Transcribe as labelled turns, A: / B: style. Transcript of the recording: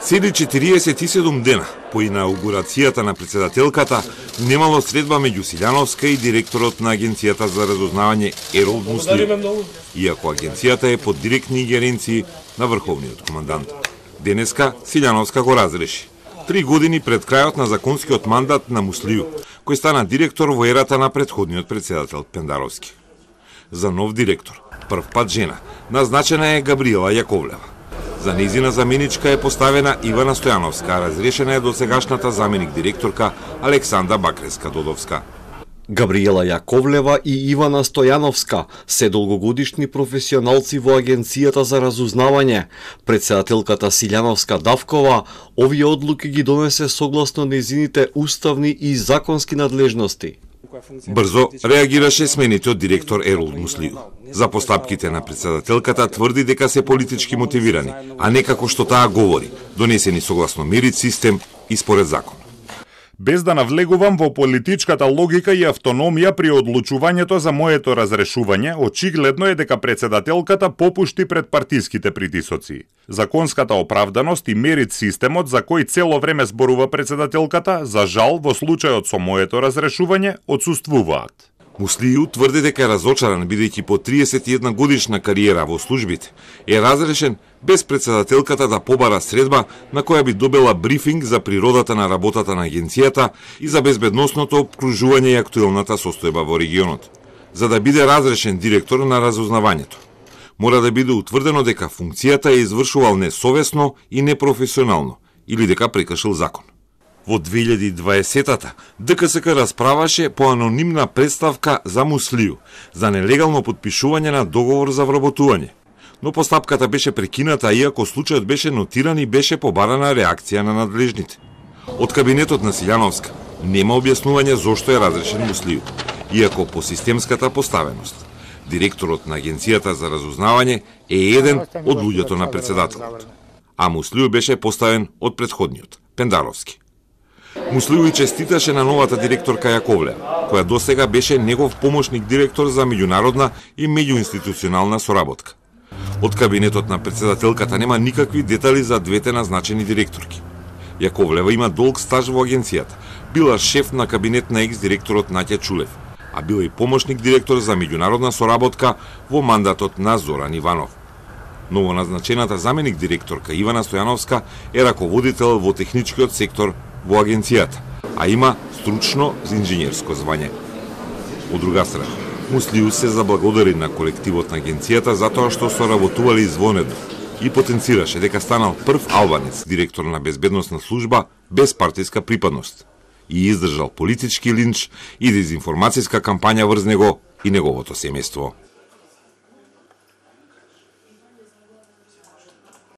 A: Седи 47 дена по инаугурацијата на председателката немало средба меѓу Силјановска и директорот на Агенцијата за разузнавање Еролд Муслиу, иако агенцијата е под директни ингеренции на врховниот командант. Денеска Силјановска го разреши 3 години пред крајот на законскиот мандат на Муслиу, кој стана директор во ерата на претходниот председател Пендаровски. За нов директор, прв пат жена, назначена е Габриела Јаковлева. За нејзина заменичка е поставена Ивана Стојановска, а разрешена е досегашната заменик директорка Александра Бакреска-Додовска.
B: Габриела Јаковлева и Ивана Стојановска се долгогодишни професионалци во Агенцијата за разузнавање. Председателката Силјановска Давкова овие одлуки ги донесе согласно нејзините уставни и законски надлежности.
A: Брзо реагираше сменитиот директор Еролд Муслиу. За постапките на председателката тврди дека се политички мотивирани, а не како што таа говори, донесени согласно мерит систем и според закон.
C: Без да навлегувам во политичката логика и автономија при одлучувањето за моето разрешување, очигледно е дека председателката попушти пред партиските притисоци. Законската оправданост и мерит системот за кој цело време зборува председателката, за жал во случајот со моето разрешување, отсуствуваат.
A: Муслиу тврди дека е разочаран бидејќи по 31 годишна кариера во службите е разрешен без председателката да побара средба на која би добила брифинг за природата на работата на агенцијата и за безбедносното обкружување и актуелната состојба во регионот. За да биде разрешен директор на разузнавањето, мора да биде утврдено дека функцијата е извршувал несовесно и непрофесионално или дека прекршил закон. Во 2020-та ДКСК расправаше по анонимна представка за Муслиу за нелегално потпишување на договор за вработување. Но постапката беше прекината, иако случајот беше нотиран и беше побарана реакција на надлежните. Од кабинетот на Силјановска нема објаснување зошто е разрешен Муслиу, иако по системската поставеност. Директорот на Агенцијата за разузнавање е еден од луѓето на председателот, а Муслиу беше поставен од претходниот, Пендаровски. Муслиу и честиташе на новата директорка Јаковлева, која досега беше негов помошник директор за меѓународна и меѓуинституционална соработка. Од кабинетот на председателката нема никакви детали за двете назначени директорки. Јаковлева има долг стаж во агенцијата, била шеф на кабинет на екс-директорот Наќа Чулев, а била и помошник директор за меѓународна соработка во мандатот на Зоран Иванов. Новоназначената заменик директорка Ивана Стојановска е раководител во техничкиот сектор во агенцијата, а има стручно инженерско звање. Од друга страна, Муслиу се заблагодари на колективот на агенцијата затоа што соработували извонедно и потенцираше дека станал прв албанец директор на безбедносна служба без партиска припадност и издржал политички линч и дезинформацијска кампања врз него и неговото семејство.